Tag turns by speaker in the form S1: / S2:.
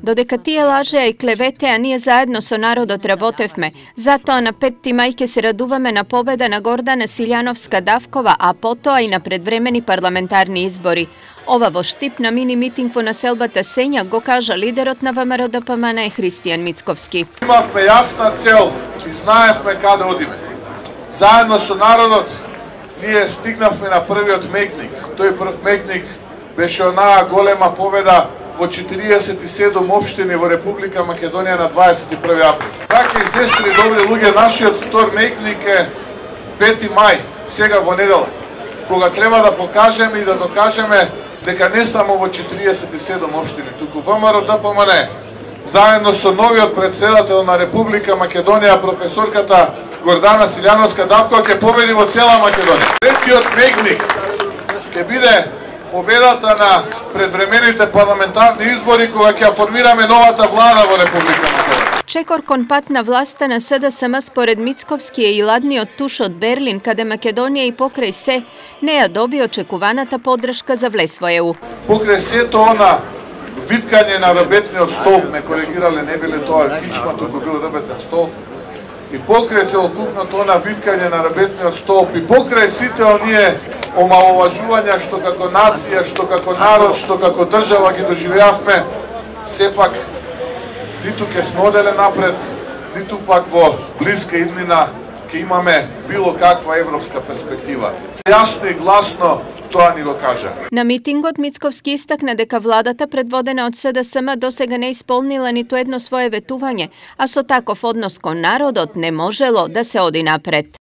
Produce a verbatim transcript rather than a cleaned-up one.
S1: Додека тие лажеа и клеветеа, ние заедно со народот работевме. Затоа на петти мај ќе се радуваме на победа на Гордана Силјановска-Давкова, а потоа и на предвремени парламентарни избори. Ова во Штип на мини митинг во населбата Сења го кажа лидерот на ВМРО-ДПМН Христијан Мицковски.
S2: Имавме јасна цел и знаевме каде одиме. Заедно со народот ние стигнавме на првиот мекник. Тој прв мекник беше онаа голема победа во четириесет и седум општини во Република Македонија на дваесет и први април. Така и сестри, добри луѓе, нашиот втор мекник е пети мај, сега во неделя, кога треба да покажеме и да докажеме дека не само во четириесет и седум општини, туку ВМРО-ДПМН, заедно со новиот председател на Република Македонија, професорката Гордана Силјановска-Давкова, ќе победи во цела Македонија. Третиот мекник ќе биде победата на предвремените парламентарни избори, кога ќе формираме новата влада во Република Македонија.
S1: Чекор кон пат на власта на СДСМ според Мицковски е и ладниот туш од Берлин, каде Македонија и покрај се не ја доби очекуваната поддршка за влез во ЕУ.
S2: Покрај сето она виткање на рабетниот стол, ме коригирале, не биле тоа кичма, туку бил рабетен стол, и покрај целокупното она виткање на рабетниот стол, и покрај сите оние омаловажувања што како нација, што како народ, што како држава ги доживеавме, сепак ниту ќе сме оделе напред, ниту пак во блиска иднина ќе имаме било каква европска перспектива. Јасно и гласно тоа ни го кажа.
S1: На митингот Мицковски истакна дека владата предводена од СДСМ досега не исполнила ниту едно свое ветување, а со таков однос кон народот не можело да се оди напред.